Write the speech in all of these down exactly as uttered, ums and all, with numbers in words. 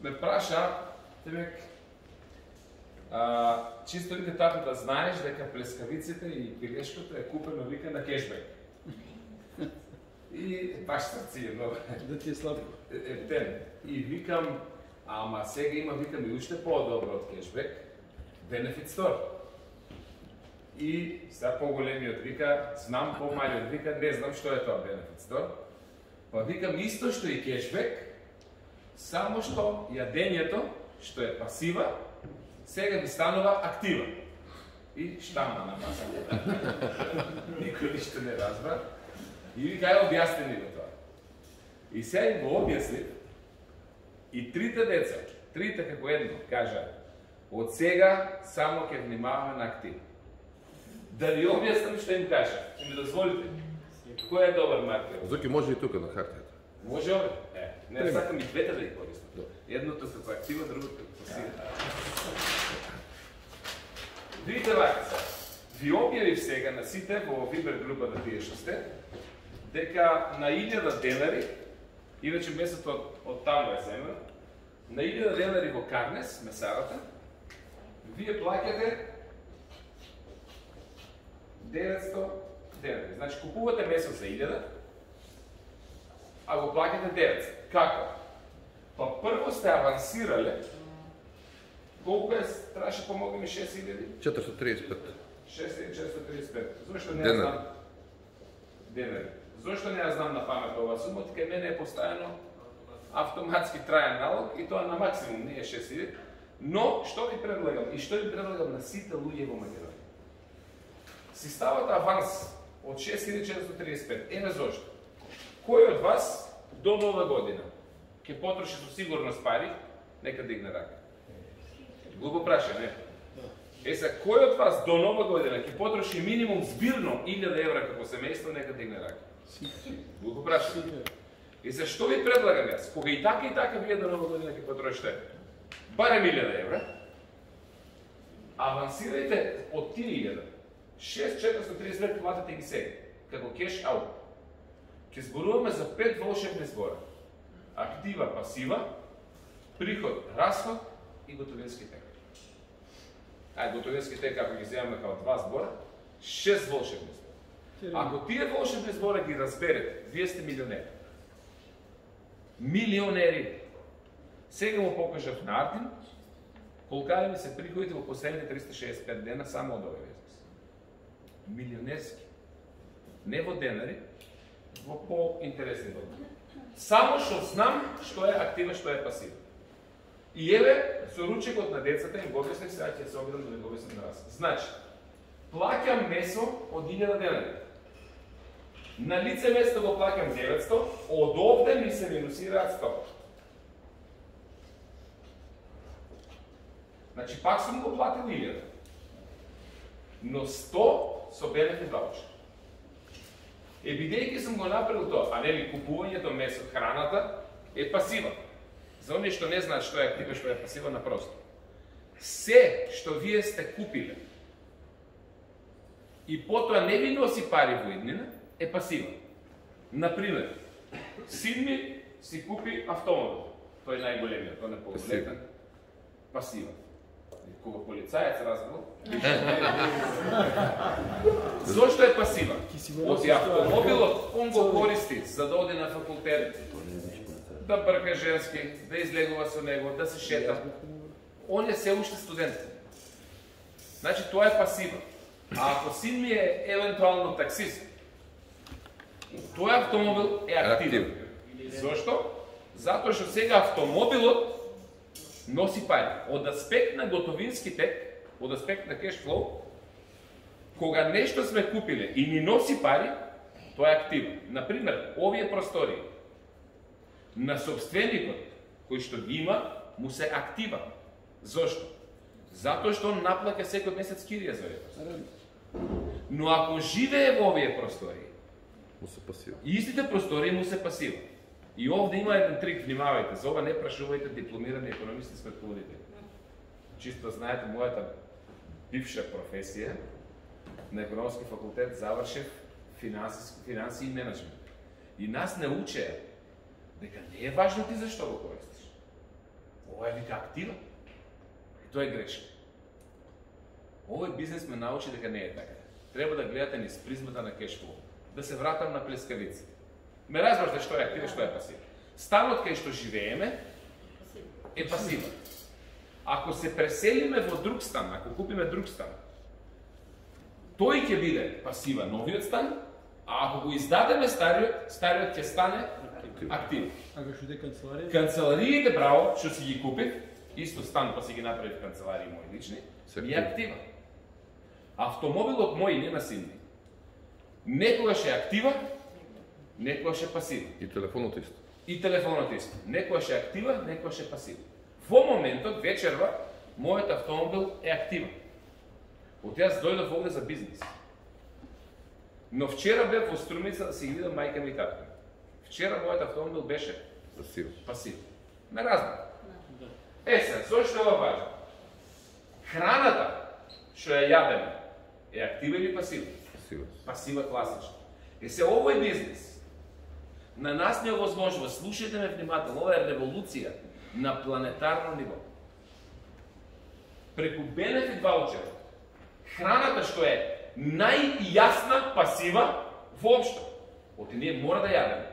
ме праша, тебе, а, чисто вика тато да знаеш дека плескавиците и пилешкото е купено вика на кешбек. И баш срци е много. Да ти е слабо. Ептен. И викам, ама сега има, викам, и уште по-добро од кешбек, Benefit Store. И сега по-големиот вика, знам, по-малиот вика, не знам што е тоа Benefit Store. Па викам исто што и кешбек, само што јадењето, што е пасива, сега ви станува актива. И штама на масата. Никој ништо не разбра. И ви кај објасни ни го тоа. И сега им го објасни, и трите деца, трите како едно, кажа, од сега само ќе внимаваме на актив. Да ви објаснам што им кажа. Ќе ми дозволите? Кој е добар маркер? Зоки може и тука на хартијата. Може ове? Е, не сакам и двете да ги користам. Едното како актива, другото како пасива. Видите вака се. Ви објавив сега на сите во Вибер група да тие што сте, дека на илјада денари, иначе месото од, од таму е земен, на илјада денари во Карнес, месарата, вие плаќате деветсто денари. Значи, купувате месо за илјада, а го плаќате деветсто. Како? Па прво сте авансирале, колку е, траше помоги ми шест илјади? четиристотини триесет и пет. шест илјади четиристотини триесет и пет. Зошто не ја знам? Денари. Зошто не ја знам на памет ова сума, кај мене е поставено автоматски траен налог и тоа на максимум, не е шест илјади. Но, што ви предлагам и што ви предлагам на сите луѓе во Македонија? Си ставате аванс од шест илјади четиристотини триесет и пет. Еме зошто? Кој од вас до нова година ќе потроши со сигурност пари, нека дигне рака. Глупо праша, не? Е са, кој од вас до нова година ќе потроши минимум збирно илјада евра како семејство, нека дигне рака. Глупо праша. И за што ви предлагам јас? Кога и така и така вие до нова година ќе потрошите барем илјада евра, авансирајте од тие илјада. шест четиристотини триесет и пет платите ги сега, како кеш аут. Ќе зборуваме за пет волшебни збора. Актива, пасива, приход, расход и готовински тек. Ај, готовински тек, ако ги земаме као два збора, шест волшебни збора. Ако тие волшебни збора ги разберете, вие сте милионери. Милионери. Сега му покажав на Артин, колкаде ми се приходите во последните триста шеесет и пет дена само од овој бизнес. Милионерски. Не во денари, во по-интересни дома. Само што знам што е актива, што е пасива. И еве, со ручекот на децата им го објаснив, сега ќе се обидам да ви го објаснам на вас. Значи, плаќам месо од илјада денари. На лице место го плаќам деветсто, од овде ми се минусираат сто. Значи, пак сум го платил илјада. Но сто со бенефит ваучер. Е, бидејќи сум го направил тоа, а нели купувањето месо, храната е пасива. За оние што не знаат што е актива, што е пасива, напросто. Се што вие сте купиле и потоа не ви носи пари во иднина, е пасива. Например, син ми си купи автомобил. Тој е најголемиот, тој е поголетен. Пасива. Кога полицаец разбил, зошто е пасива? Оти автомобилот, он го користи за да оди на факултет, да брка женски, да излегува со него, да се шета. Он е се уште студент. Значи, тоа е пасива. А ако син ми е евентуално таксист, тој автомобил е активен. Зошто? Затоа што сега автомобилот носи пари. Од аспект на готовински тек, од аспект на кеш флоу, кога нешто сме купиле и ни носи пари, тоа е активно. Например, овие простори на собственикот, кој што ги има, му се актива. Зошто? Затоа што он наплаќа секој месец кирија за овие. Но ако живее во овие простори, му се пасива. И истите простори му се пасива. И овде има еден трик, внимавајте, за ова не прашувајте дипломирани економисти сметководители. Чисто знаете, мојата бивша професија на економски факултет завршив финанси, финанси и менеджмент. И нас не учеа дека не е важно ти зашто го користиш. Ова е вика актива. И тоа е грешно. Овој бизнес ме научи дека не е така. Треба да гледате низ призмата на кешфлоу. Да се вратам на плескавици. Ме разбрате што е актива и што е пасива. Станот кај што живееме е пасива. Ако се преселиме во друг стан, ако купиме друг стан, тој ќе биде пасива новиот стан, а ако го издадеме стариот, стариот ќе стане актив. А што е канцеларија? Канцелариите, браво, што си ги купив, исто стан па си ги направив канцеларии мои лични, ми е актива. Автомобилот мој нема синни. Некогаш е актива, некогаш е пасива. И телефонот исто. И телефонот исто. Некогаш е актива, некогаш е пасива. Во моментот, вечерва, мојот автомобил е актива. Од јас дојдов овде за бизнес. Но вчера бев во Струмица да си ги видам мајка ми и татко. Вчера мојот автомобил беше Пасива. пасив. Не разбрам. Е сега, зошто е ова важно? Храната што ја јадеме е актива или пасива? Пасива. Пасива класична. Е се овој бизнес на нас не овозможува, слушајте ме внимателно, ова е револуција на планетарно ниво. Преку бенефит ваучер, храната што е најјасна пасива воопшто. Оти ние мора да јадеме.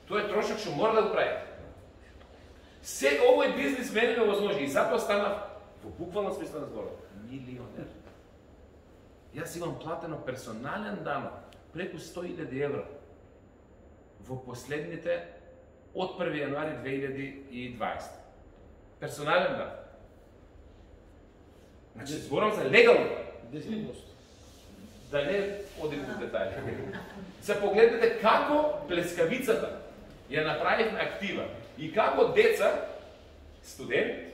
Тоа е трошок што мора да го правиме. Сега овој бизнес мене не овозможи и затоа станав во буквално смисла на зборот милионер. Јас имам платено персонален данок преку сто илјади евра во последните од први јануари две илјади и дваесета. Персонален данок. Значи, зборам за легално. десет проценти. Да не одим во детајли. Се погледнете како плескавицата ја направивме актива и како деца, студент,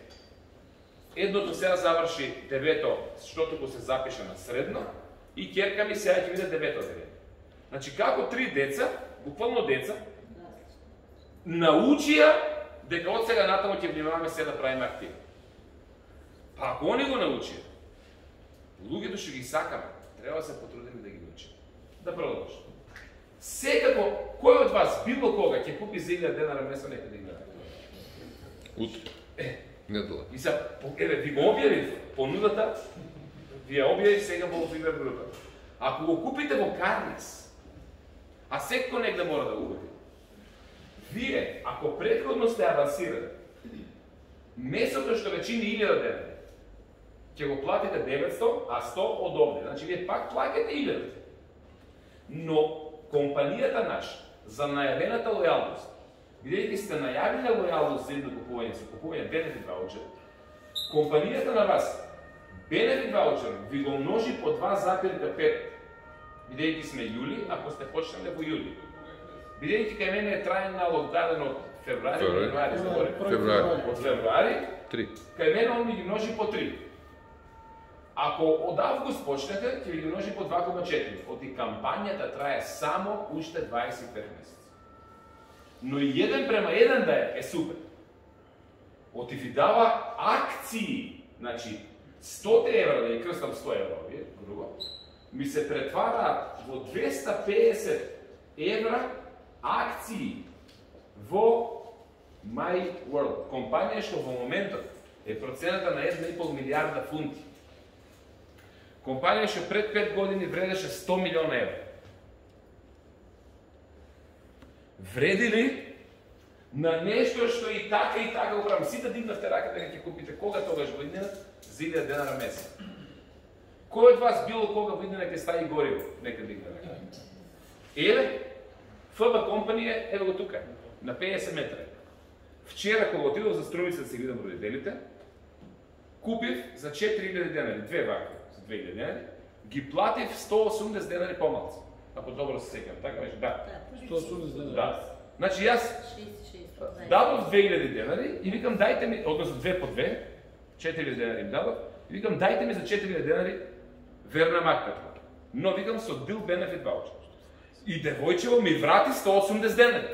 едното сега заврши девето, штото го се запиша на средно, и ќерка ми сега ќе биде девето девето. Значи, како три деца, буквално деца, научија дека од сега натаму ќе внимаваме се да правиме активи. Па ако они го научија, луѓето што ги сакаме, треба да се потрудиме да ги научиме. Да продолжи. Секако, кој од вас, било кога, ќе купи за илјада денара место, нека да играе? Утре. Е. Недела. И са, еве, ви го објавив понудата, ви ја објавив сега во Фибер група. Ако го купите во Карнес, а секој негде мора да го купи, вие, ако претходно сте авансирали, месото што ве чини илјада денари, ќе го платите деветсто, а сто од овде. Значи, вие пак плаќате илјада. Но, компанијата наша, за најавената лојалност, бидејќи сте најавиле лојалност за едно купување, со купување бенефит ваучер, компанијата на вас, бенефит ваучер, ви го множи по два запирка пет, бидејќи сме јули, ако сте почнале во јули. Бидејќи кај мене е траен налог даден од февруари, февруари, заборим. Февруари. Од февруари, Три. кај мене он ми ги множи по три. Ако од август почнете, ќе ви ги множи по два кома четири. Оти кампањата трае само уште дваесет и пет месеци. Но и еден према еден да е, е супер. Оти ви дава акции, значи сто евра, да ја крстам сто евра, овие, друго, ми се претвара во двеста педесет евра акции во My World. Компанија што во моментот е процената на една и пол милијарда фунти. Компанија што пред пет години вредеше сто милиона евра. Вреди ли на нешто што и така и така го правам? Сите дигнавте рака дека ќе купите кога тогаш во иднина за илјада денара месец. Кој од вас било кога во иднина ќе стави гориво? Нека дигне рака. Еве, Ф Б компанија, еве го тука, на педесет метра. Вчера кога отидов за Струмица да се видам родителите, купив за четири илјади денари, две вака. две илјади денари, ги платив сто и осумдесет денари помалку. Ако добро се сеќавам, така беше? Да. сто и осумдесет денари. Да. Значи јас дадов две илјади денари и викам дајте ми, односно две по две, четири илјади денари им дадов, и викам дајте ми за четири илјади денари верна маката. Но викам со дил бенефит ваучер. И девојчево ми врати сто и осумдесет денари.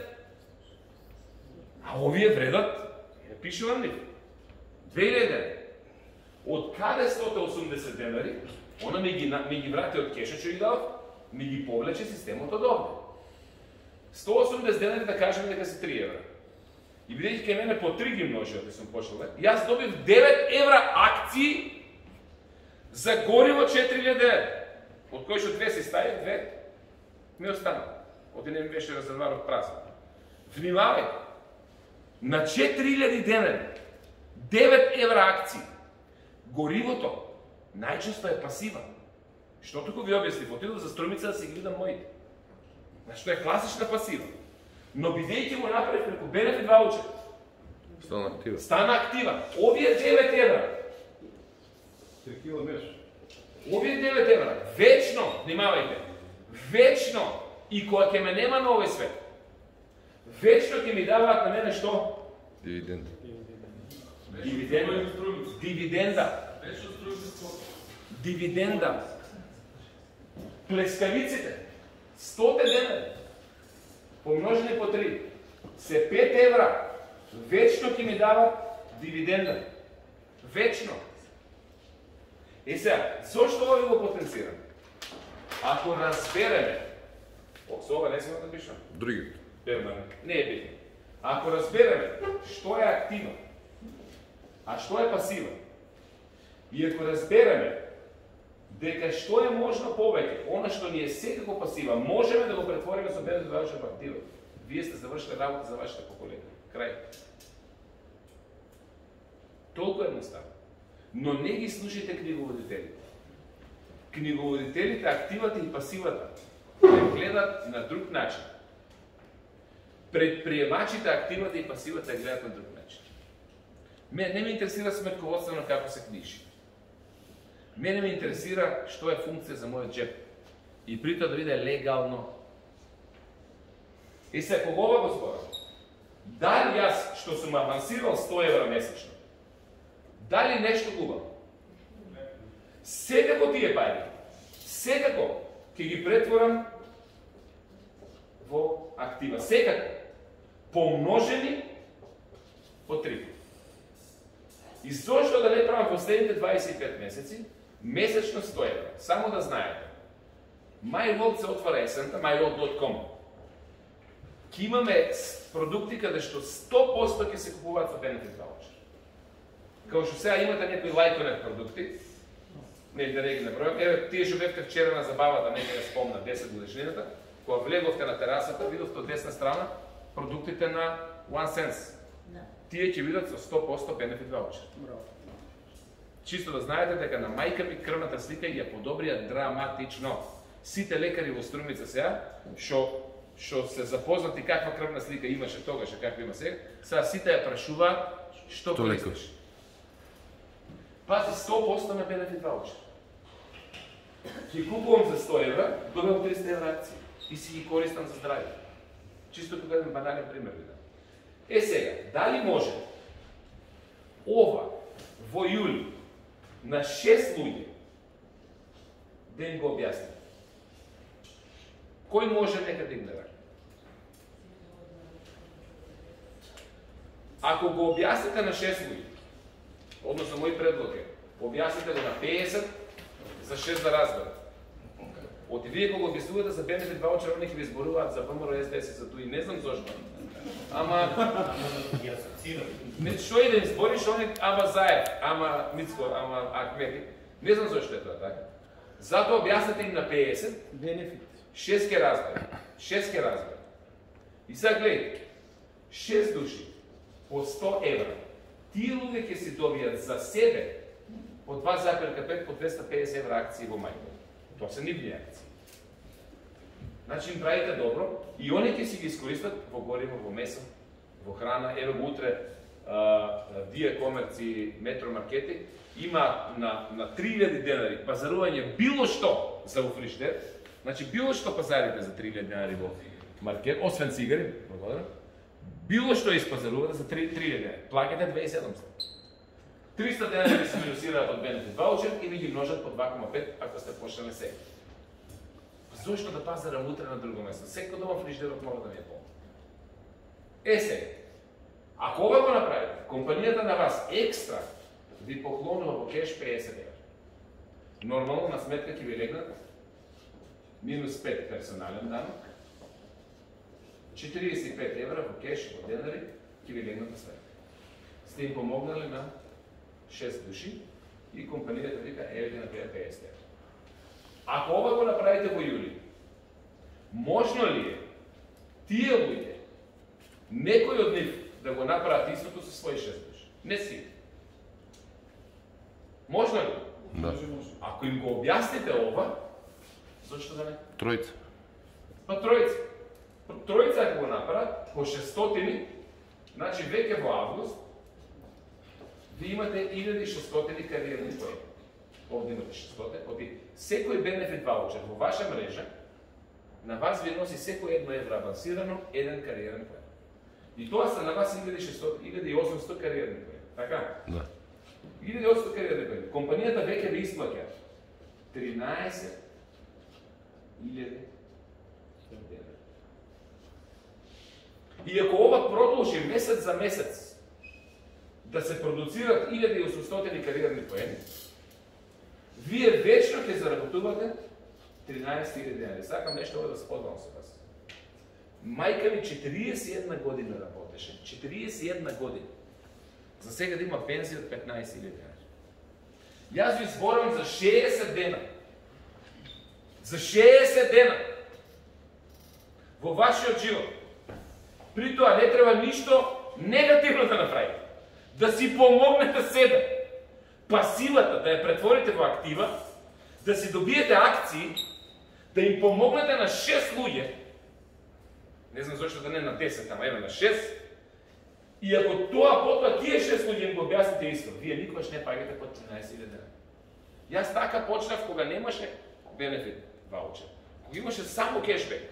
А овие вредат, е пишувам нив, две илјади денари. Од каде сто и осумдесет денари, она ми ги, ми ги врати од кешот што ги дадов, ми ги повлече системот од овде. сто и осумдесет денари да кажеме дека се три евра. И бидејќи кај мене по три ги множи, да сум почнал, јас добив девет евра акции за гориво четири илјади евра. Од кои што две се стави, две ми останал. Оти не ми беше резерварот празен. Внимавај, на четири илјади денари, девет евра акции. Горивото најчесто е пасива. Што туку ви објаснив, отидов за струмица да си ги видам моите. Значи, тоа е класична пасива. Но бидејќи го направив преку бенефит ваучер, Стана актива. стана актива. Овие девет евра, три кила меш. овие девет евра, вечно, внимавајте, вечно, и кога ќе ме нема на овој свет, вечно ќе ми даваат на мене што? Дивиденд. Дивиденда. Дивиденда. Дивиденда. Плескавиците. сто денари. Помножени по три. Се пет евра. Вечно ќе ми дават дивиденда. Вечно. И сега, зошто ова ви го потенцирам? Ако разбереме, со ова не сме да пишам. Другите. Перманент. Не е битно. Ако разбереме што е актива, а што е пасива, и ако разбереме дека што е можно повеќе, она што ни е секако пасива, можеме да го претвориме со бенефит ваучер во актива. Вие сте завршили работа за вашите поколение. Крај. Толку едноставно. Но не ги слушайте книговодителите. Книговодителите, активата и пасивата ја гледат на друг начин. Предприемачите, активата и пасивата ја гледат на друг начин. Мене не ме интересира сметководствено како се книжи. Мене ме интересира што е функција за мојот джеп. И при тоа да биде легално. И се кога ова го зборам, дали јас што сум авансирал сто евра месечно, дали нешто губам? Секако тие пари, секако ќе ги претворам во актива. Секако. Помножени по три. И зошто да не правам последните дваесет и пет месеци, месечно сто евра. Само да знаете. MyWorld се отвара есента, my world dot com. Ке имаме продукти каде што сто проценти ќе се купуваат со бенефит ваучер. Као што сега имате некои лајконет продукти, не да не ги набројам, еве тие што бевте вчера на забавата, нека ја спомна десет годишнината, кога влеговте на терасата, видовте од десна страна продуктите на OneSense. Тие ќе видат со сто проценти бенефит ваучер. Чисто да знаете дека на мајка ми крвната слика ја подобрија драматично. Сите лекари во Струмица сега, што што се запознати каква крвна слика имаше тогаш, каква има сега, сега сите ја прашуваат што користиш. Пази, сто проценти на бенефит ваучер. Ќе купувам за сто евра, добивам триста евра акции и си ги користам за здравје. Чисто тука еден банален пример ви дам. Е сега, дали може ова во јули на шест луѓе да им го објасни? Кој може нека да им да рака? Ако го објасните на шест луѓе, односно мој предлог е, објасните го на песет за шест да разберат. Оти вие кога го објаснувате за бенефит ваучер, они ќе ви зборуваат за ВМРО, СДС, за тој, не знам зошто. Ама не што и да им збориш, они ама Заев, ама Мицко, ама Ахмети. Не знам зошто е тоа така. Затоа објасните им на песет, Бенефит. шест ке разберат. шест ке разберат. И сега гледайте, шест души по сто евра. Тие луѓе ќе си добијат за себе по два зарез пет по двеста педесет евра акции во мај. Тоа се нивни акции. Значи им правите добро и они ќе си ги искористат во гориво, во месо, во храна. Ево го утре Дија Комерци, Метромаркети има на, на три илјади денари пазарување било што за во фриждер. Значи било што пазарите за три илјади денари во маркет, освен цигари, благодарам. Било што испазарувате за три илјади денари. Плаќате две илјади и седумстотини. триста денари се минусираат од бенефит ваучер и ви ги множат по два кома пет ако сте почнали сега. Зошто да пазарам утре на друго место? Секој дома фриждерот мора да ми е полн. Е сега, ако ова го направите, компанијата на вас екстра ви поклонува во кеш педесет евра. Нормално на сметка ќе ви легнат минус пет персонален данок, четириесет и пет евра во кеш, во денари, ќе ви легнат на свет. Сте им помогнали на шест души и компанијата вика, еве на тебе педесет евра. Ако ова го направите во јули, можно ли е тие луѓе, некој од нив да го направат истото со своји шест души? Не си. Можно ли? Да. Ако им го објасните ова, зашто да не? Тројца. Па тројца. Па тројца ако го направат, по шестстотини, значи веќе во август, ви имате илјада и шестстотини кариерни поени. Овде имате шестстотини, оти секој бенефит ваучер во ваша мрежа, на вас ви носи секој едно евро авансирано, еден кариерен поен. И тоа се на вас илјада и шестстотини, илјада и осумстотини кариерни поени. Така? Да. илјада и осумстотини кариерни поени. Компанијата веќе ви исплаќа тринаесет илјади денара. И ако ова продолжи месец за месец да се продуцират илјада и осумстотини кариерни поени, вие вечно ќе заработувате тринаесет илјади денари. Сакам нешто ова да споделам со вас. Мајка ми четириесет и една година работеше. четириесет и една година. За сега да има пензија од петнаесет илјади денари. Јас ви зборам за шеесет дена. За шеесет дена. Во вашиот живот. При тоа не треба ништо негативно да направите. Да си помогнете себе. Пасивата да ја претворите во актива, да си добиете акции, да им помогнете на шест луѓе, не знам зашто да не на десет, ама еве на шест, и ако тоа потоа тие шест луѓе им го објасните исто, вие никогаш не паѓате под тринаесет илјади денари. Јас така почнав кога немаше бенефит ваучер. Кога имаше само кешбек.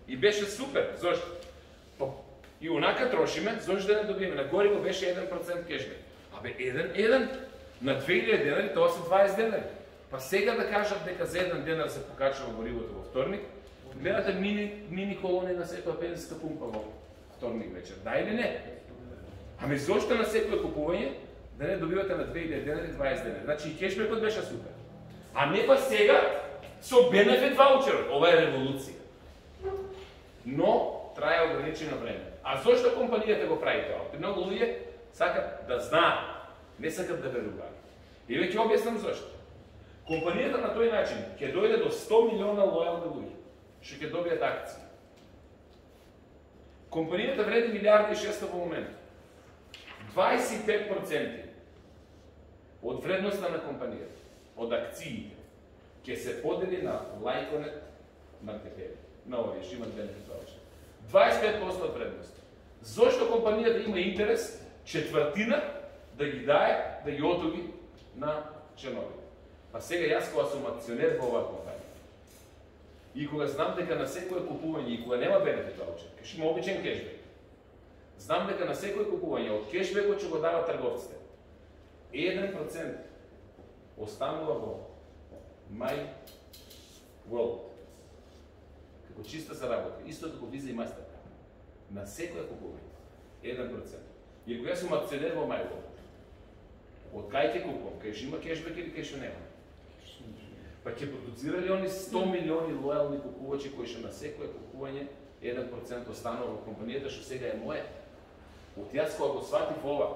И беше супер, зашто? И онака трошиме, зашто да не добиеме? На горе го беше еден процент кешбек. Абе, еден, еден, на две илјади денари, тоа се дваесет денари. Па сега да кажат дека за еден денар се покачува горивото во вторник, гледате мини, мини колони на секоја пензиска пумпа во вторник вечер. Да или не? Ами зошто на секој купување да не добивате на две илјади денари дваесет денари? Значи и кешбекот беше супер. А не па сега со бенефит ваучерот. Ова е револуција. Но трае ограничено време. А зошто компанијата го прави тоа? Многу луѓе сакат да знаат, не сакат да веруваат. И веќе објаснам зошто. Компанијата на тој начин ќе дојде до сто милиона лојални луѓе, што ќе добијат акции. Компанијата вреди милијарда и шестстотини во момент. дваесет и пет проценти од вредноста на компанијата, од акциите, ќе се подели на лајконет мартепери, на овие што имат бенефит ваучер. дваесет и пет проценти од вредноста. Зошто компанијата има интерес четвртина да ги дае, да ги отуги на членовите? Па сега јас кога сум акционер во оваа компанија и кога знам дека на секое купување и кога нема бенефит ваучер, ќе има обичен кешбек, знам дека на секое купување од кешбекот што го дава трговците, еден процент останува во My World како чиста заработка, исто како Visa и Mastercard. На секое купување еден процент. И ако јас сум акционер во My World, од кај ќе купувам? Кај што има кешбек или кај што нема? Па ќе продуцирали они сто милиони лојални купувачи кои што на секое купување еден процент останува во компанијата што сега е моја. Од јас кога го сватив ова,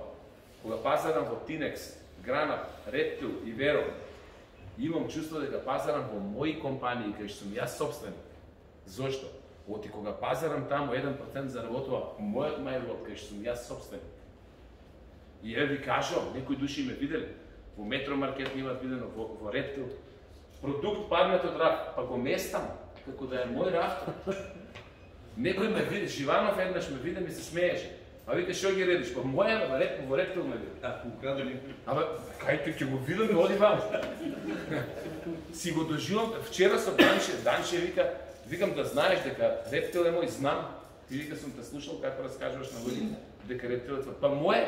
кога пазарам во Тинекс, Гранат, Рептил и Веро, имам чувство дека пазарам во мои компании кај што сум јас собственик. Зошто? Оти кога пазарам таму еден процент заработува мојот MyWorld кај што сум јас собственик. И еве ви кажам, некои души ме видели, во Метромаркет ме имат видено, во, во Рептил, продукт паднат од раф, па го местам, како да е мој раф. Некој ме види, Живанов еднаш ме види, ми се смееше. А вика, што ги редиш? Па моја во Рептил, во Рептил ме види. А, украдени. Абе, кај тој ќе го видам и оди вам. Си го доживам, вчера со Данче, Данче вика, викам да знаеш дека Рептил е мој, знам. Ти вика сум те слушал како раскажуваш на луѓе дека Рептил е твој. Па мој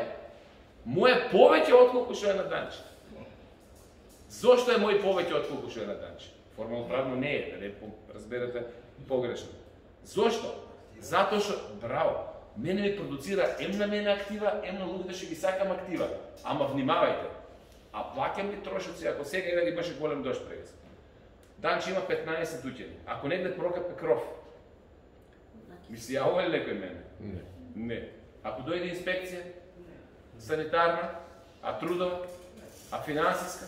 Мој повеќе отколку што е на Данче. Зошто е мој повеќе отколку што е на Данче? Формално правно не е, да не разберете погрешно. Зошто? Затоа што, браво, мене ми продуцира ем на мене актива, ем на луѓето што ги сакам актива. Ама внимавајте, а плаќам ли трошоци ако сега еве имаше голем дожд прегас? Данче има петнаесет уќени. Ако негде прокапе кров, мисли, ја ова е лекој мене? Не. Не. Ако дојде инспекција, санитарна, а трудова, а финансиска,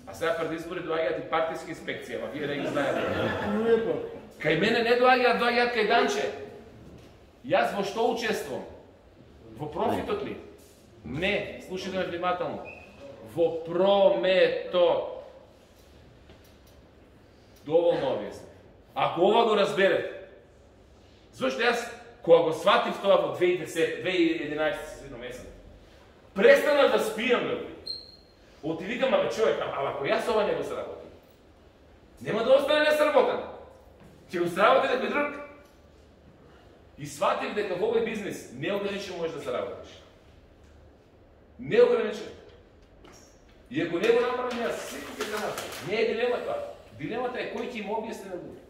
а сега пред избори доаѓаат и партиски инспекција, ама вие не ги знаете. Кај мене не доаѓаат, доаѓаат кај Данче. Јас во што учествувам? Во профитот ли? Не, слушайте ме внимателно. Во прометот. Доволно објасни. Ако ова го разберете, зашто јас, кога го сватив тоа во две илјади и единаесетта седно месец, престанав да спијам, бе. Оти викам, абе човек, ама ако јас ова не го сработам, нема да остане несработен. Ќе го сработи некој друг. И сватив дека во овој бизнес неограничено можеш да се работиш. Неограничено. И ако не го направам јас, секој ќе го направи. Не е дилема тоа. Дилемата е кој ќе им објасни на луѓе.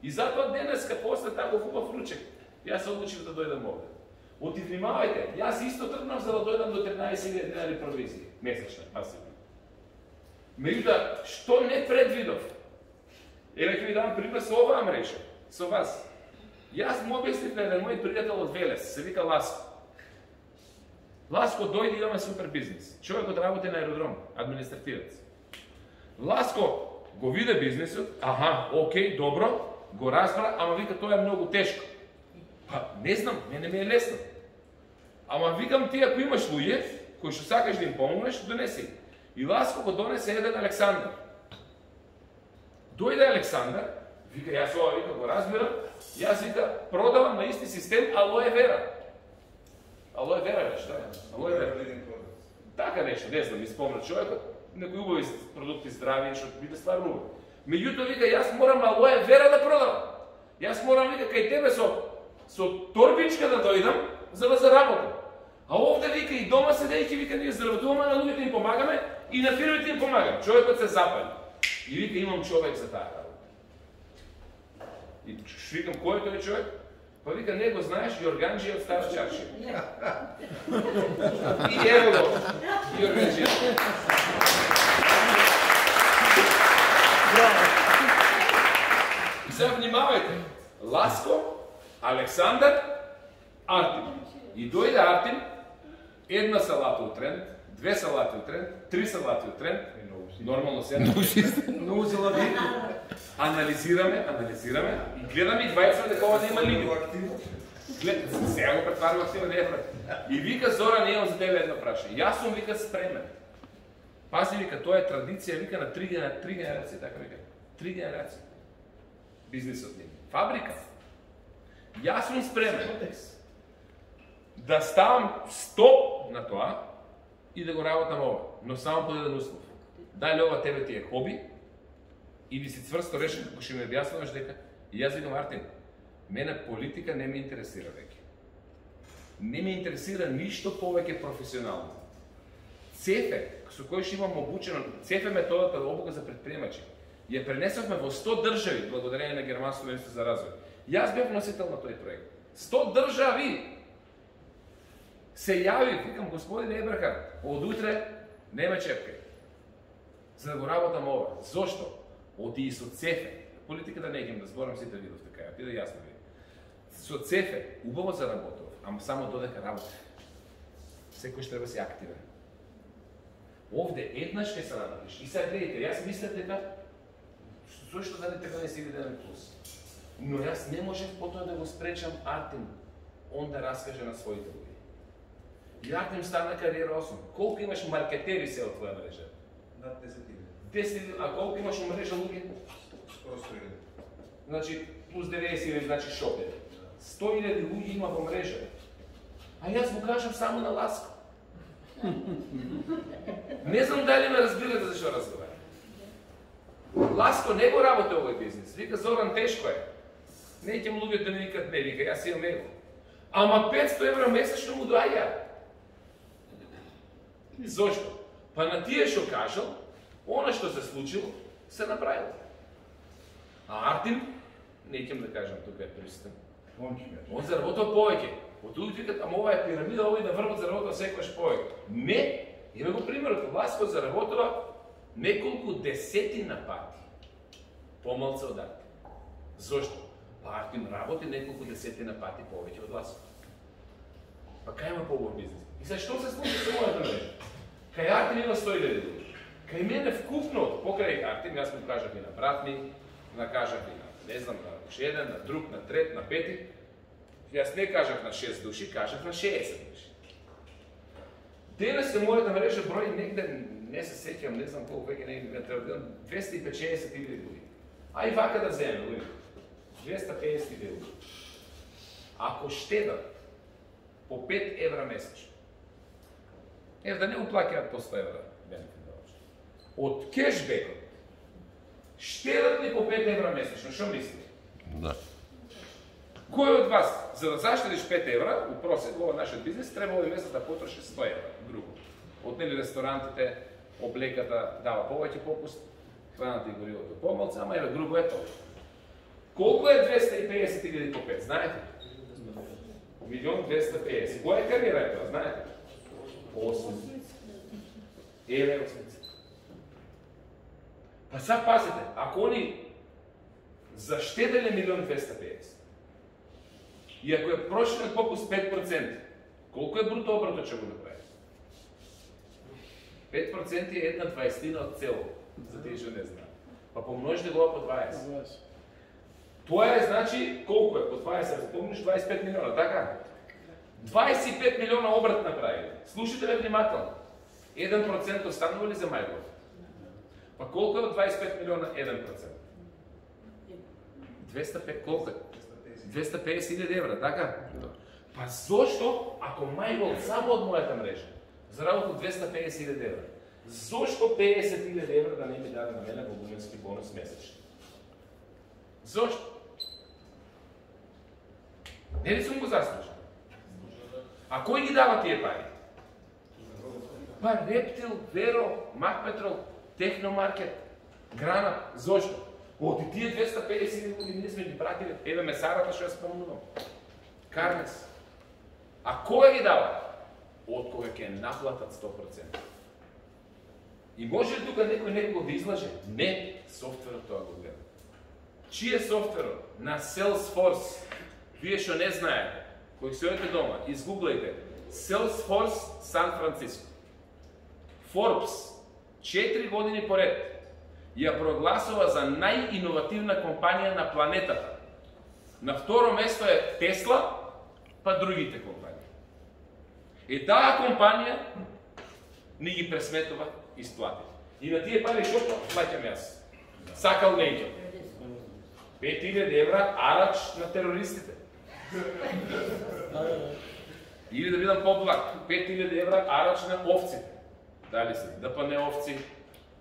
И затоа денеска после тако хубав ручек, јас се одлучив да дојдам овде. Оти внимавајте, јас исто тргнав за да дојдам до тринаесет илјади денари провизија месечна, пасивно. Меѓутоа, што не предвидов? Еве ќе ви дам пример со оваа мрежа, со вас. Јас му објаснив на еден мој пријател од Велес, се вика Ласко. Ласко дојде, имаме супер бизнес. Човекот работи на аеродром, административец. Ласко го виде бизнесот, аха, окей, добро, го разбра, ама вика тоа е многу тешко. Па, не знам, мене ми е лесно. Ама викам ти, ако имаш луѓе, кои што сакаш да им помогнеш, донеси. И Ласко го донесе еден Александар. Дојде Александар, вика, јас ова, вика, го разбирам, јас вика, продавам на исти систем алоe вера. Алоe вера беше, да? Алоe вера. Така нешто, не знам, испомна човекот, некои убави продукти здрави, што биде стварно убави. Меѓутоа, вика, јас морам алоe вера да продавам. Јас морам, вика, кај тебе со со торбичка да дојдам, за да заработам. А овде, вика, и дома седејќи, вика, ние заработуваме, на луѓето им помагаме и на фирмите им помагаме. Човекот се запали. И вика, имам човек за таа работа. И викам, кој е тој човек? Па вика, не го знаеш, Јорганџија од Стара Чаршија. И ево го, Јорганџија. И сега внимавајте, Ласко, Александар, Артим. И дојде Артим, една салата од тренд, две салати од тренд, три салати од тренд, нормално седна. Многу салати. Анализираме, анализираме и гледаме и двајца дека ова нема лиги. Глед, сега го претварам активно, не е пред. И вика, Зора, не имам за тебе едно праша. Јас сум, вика, спремен. Пази, вика, тоа е традиција, вика, на три, на три генерации, така вика. Три генерации. Бизнисот нема. Фабрика. Јас сум спремен да ставам стоп на тоа и да го работам ова, но само под еден услов. Дали ова тебе ти е хоби или си цврсто решен како ќе ми објаснуваш дека и јас викам, Артем, мене политика не ме интересира веќе. Не ме интересира ништо повеќе професионално. Цефе, со кој што имам обучено, Цефе методата да обука за предприемачи, ја пренесовме во сто држави благодарение на Германското министерство за развој. Јас бев носител на тој проект. сто држави се јави, викам, господин Еберхард, од утре нема чепкај. За да го работам ова. Зошто? Оти и со Цефе. Политиката не ќе да зборам сите видов така, ти да јасно види. Со Цефе убаво заработав, ама само додека работам. Секој што треба си активен. Овде еднаш ќе се натриш. И сега гледайте, јас мислам дека зошто да не треба не си види еден плюс. Но јас не можев потоа да го спречам Артем, он да раскаже на своите луѓе. И Артем стана кариера осум. Колку имаш маркетери се од твоја мрежа? Над десет илјади. десет илјади, а колку имаш мрежа луѓе? Скоро сто илјади. Значи, плюс деветдесет илјади, значи шопери. сто илјади луѓе има во мрежа. А јас му кажам само на Ласко. Не знам дали ме разбирате за што разговарам. Ласко не го работи овој бизнес. Вика, Зоран, тешко е. Не ќе луѓето да ми викат не, вика, јас имам его. Ама петсто евра месечно му доаѓа. Зошто? Па на тие што кажал, она што се случило, се направило. А Артем, не ќе да кажам, тука е пристан. Он заработува повеќе. Од луѓето викат, ама ова е пирамида, овој да врват заработува секојаш повеќе. Не, има го примерот, Ласко заработува неколку десетина пати помалце од Артем. Зошто? Па Артем работи неколку десетина пати повеќе од Ласко. Па кај има по-убав бизнес? И сега што се случи со мојата мрежа? Кај Артем има сто илјади луѓе. Кај мене вкупно, покрај Артем, јас му кажав и на брат ми, на кажав и на, не знам, на уште еден, на друг, на трет, на пети. Јас не кажав на шест души, кажав на шеесет души. Денес е мојата мрежа број негде, не се сеќам, не знам колку веќе не треба да видам, двесте и петдесет илјади луѓе. Ај вака да земеме, луѓе. двесте и педесет илјади луѓе. Ако штедат по пет евра месечно, ев да не уплаќаат по сто евра бенефит ваучер. Од кешбекот штедат ли по пет евра месечно? Што мислите? Да. Кој од вас, за да заштедиш пет евра, у просек во нашиот бизнес, треба овој месец да потроши сто евра, друго. Отнели ресторантите, облеката дава повеќе попуст, храната и горивото помалку, ама еве друго е тоа. Колку е двесте и педесет илјади по пет, знаете? Милион двесте и педесет. Која кариера е тоа, знаете? осум. Еве осмица. Па сега пазите, ако они заштеделе милион двесте и педесет, и ако е проширен попуст пет проценти, колку е бруто обратот ќе го направи? пет проценти е една дваесетина од цело, за тие што не знаат. Па помножите го по дваесет. Тоа е, значи, колку е? По дваесет, помниш дваесет и пет милиона, така? дваесет и пет милиона обрат направи. Слушате ме внимателно. еден процент останува ли за мајлот? Па колку е од дваесет и пет милиона еден процент? двесте и пет, колку е? двесте и педесет илјади евра, така? Па зошто, ако мајлот само од мојата мрежа, заработил двесте и педесет илјади евра, зошто педесет илјади евра да не ми даде на мене во гуменски бонус месечно? Зошто? Не ли сум го заслужил? А кој ги дава тие пари? Па Рептил, Веро, Макпетрол, Техномаркет, Грана. Зошто? Од тие двесте и педесет илјади луѓе ние сме ги пратили, еве месарата што ја спомнувам. Карнес. А кој ги дава? Од кога ќе наплатат сто проценти. И може ли тука некој некој да излаже? Не, софтверот тоа го гледа. Чиј е софтверот? На Salesforce. Вие што не знаете, кои се одите дома, изгуглајте Salesforce Сан Франциско. Forbes четири години поред ја прогласува за најиновативна компанија на планетата. На второ место е Тесла, па другите компании. И таа компанија ни ги пресметува исплати. И на тие пари што плаќам јас? Сакал Нејќо. пет илјади евра арач на терористите. Или да бидам поблаг, пет илјади евра арач на овците. Дали се Д П Н овци,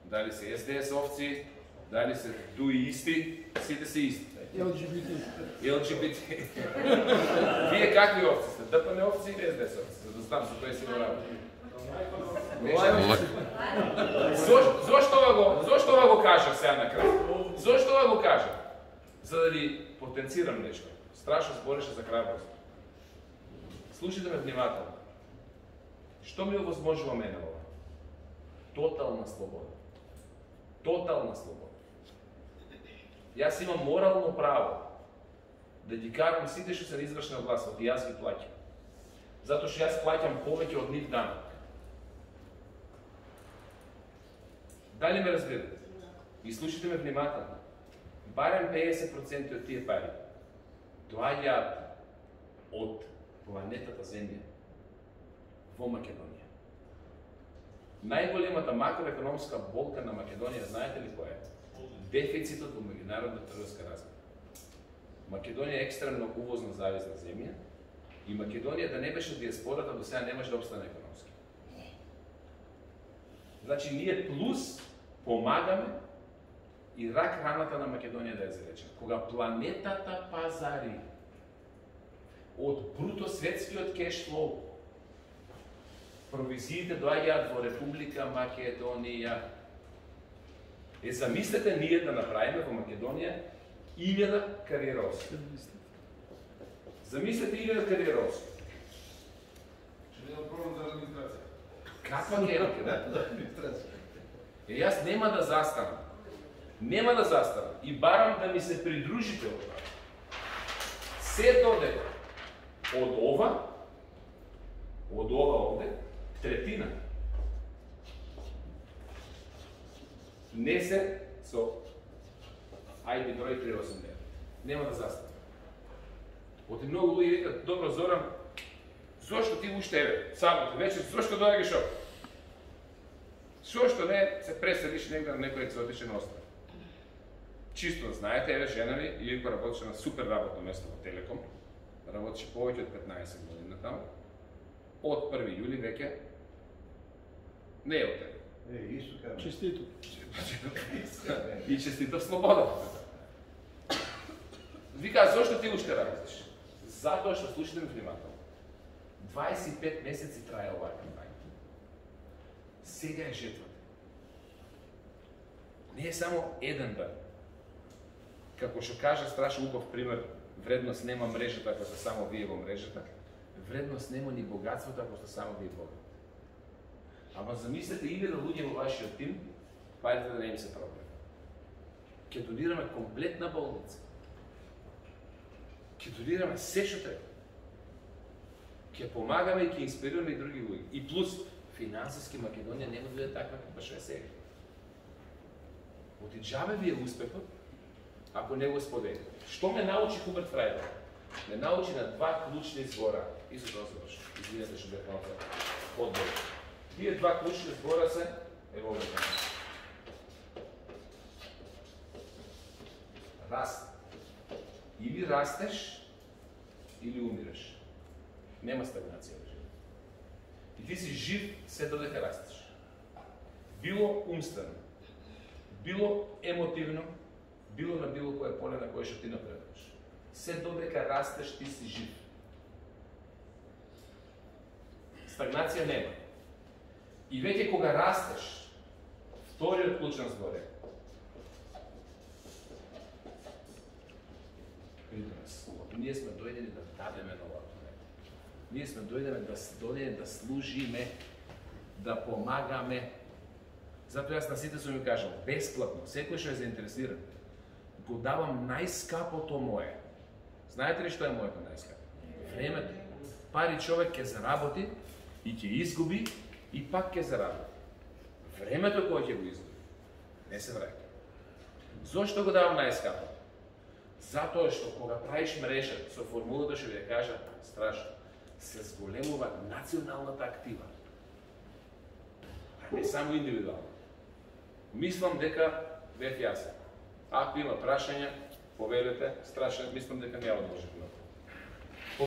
дали се С Д С овци, дали се дуиисти, сите се исти. Л Г Б Т. Л Г Б Т. Вие какви овци сте? Д П Н овци или С Д С овци? За да знам за тој си го работи. Зошто ова го, зошто ова го кажав сега на крај? Зошто ова го кажав? За да ви потенцирам нешто. Страшно збореше за храброст. Слушайте ме внимателно. Што ми овозможува мене ова? Тотална слобода. Тотална слобода. Јас имам морално право да ги карам сите што се на извршна власт, и јас ги плаќам. Затоа што јас плаќам повеќе од нив данок. Дали ме разбирате? И слушайте ме внимателно. Барем педесет проценти од тие пари доаѓаат од планетата Земја во Македонија. Најголемата макроекономска болка на Македонија, знаете ли која е? Дефицитот во меѓународната трговска размена. Македонија е екстремно увозно зависна земја и Македонија да не беше диаспората до сега не може да обстане економски. Значи ние плюс помагаме и рак раната на Македонија да ја заречем. Кога планетата пазари од бруто светскиот кеш флоу, провизиите доаѓаат во Република Македонија. Е, замислете ние да направиме во Македонија илјада кариероси. Замислете илјада кариероси. Ще не проблем за администрација. Каква ќе е? Е, јас нема да застанам. Нема да застанам. И барам да ми се придружите од това. Се додека од ова, Од ова овде, третина не се со ай би број триста и осумдесет. Нема да застане. Оти многу луѓе викат, добро Зоран, зошто ти уште еве, сабота вечер, зошто доаѓаш овде? Зошто не се преселиш негде на некој екзотичен остров? Чисто знаете, еве жена ми, Илко работеше на супер работно место во Телеком, работеше повеќе од петнаесет години таму. Од први јули веќе не е од тебе. Е, исто кажа. Честито. И честито слобода. Вика, зошто ти уште работиш? Затоа што, слушате ме внимателно, дваесет и пет месеци трае оваа кампања. Сега е жетвата. Не е само еден ден. Како што кажа страшно убав пример, вредност нема мрежата ако сте само вие во мрежата, вредност нема ни богатството ако сте само вие богат. Ама замислете илјада луѓе во вашиот тим, парите да не им се проблем. Ке донираме комплетна болница. Ке донираме се што треба. Ке помагаме и ке инспирираме и други луѓе. И плюс, финансиски Македонија нема да биде таква како што е сега. Оти џабе ви е успехот, ако не го споделите. Што ме научи Хуберт Фрајдер? Ме научи на два клучни збора. И со тоа завршам. Извинете што бев малку одбор. Тие два клучни збора се, ево овде. Раст. Или растеш, или умираш. Нема стагнација во животот. И ти си жив се додека растеш. Било умствено, било емотивно, било на било кое поле на кое што ти напредуваш. Се додека растеш, ти си жив. Стагнација нема. И веќе кога растеш, вториот клучен збор е ние сме дојдени да дадеме на оваа планета. Ние сме дојдени да дојдени да служиме, да помагаме. Затоа јас на сите сум ми кажал, бесплатно, секој што е заинтересиран, го давам најскапото мое. Знаете ли што е моето најскапо? Времето. Пари човек ќе заработи и ќе изгуби и пак ќе заработи. Времето кое ќе го изгуби, не се враќа. Зошто го давам најскапото? Затоа што кога правиш мрежа со формулата што ви ја кажа, страшно, се зголемува националната актива. А не само индивидуално. Мислам дека бев јасен. Ако има прашања, повелете, страшно, мислам дека няма да можете да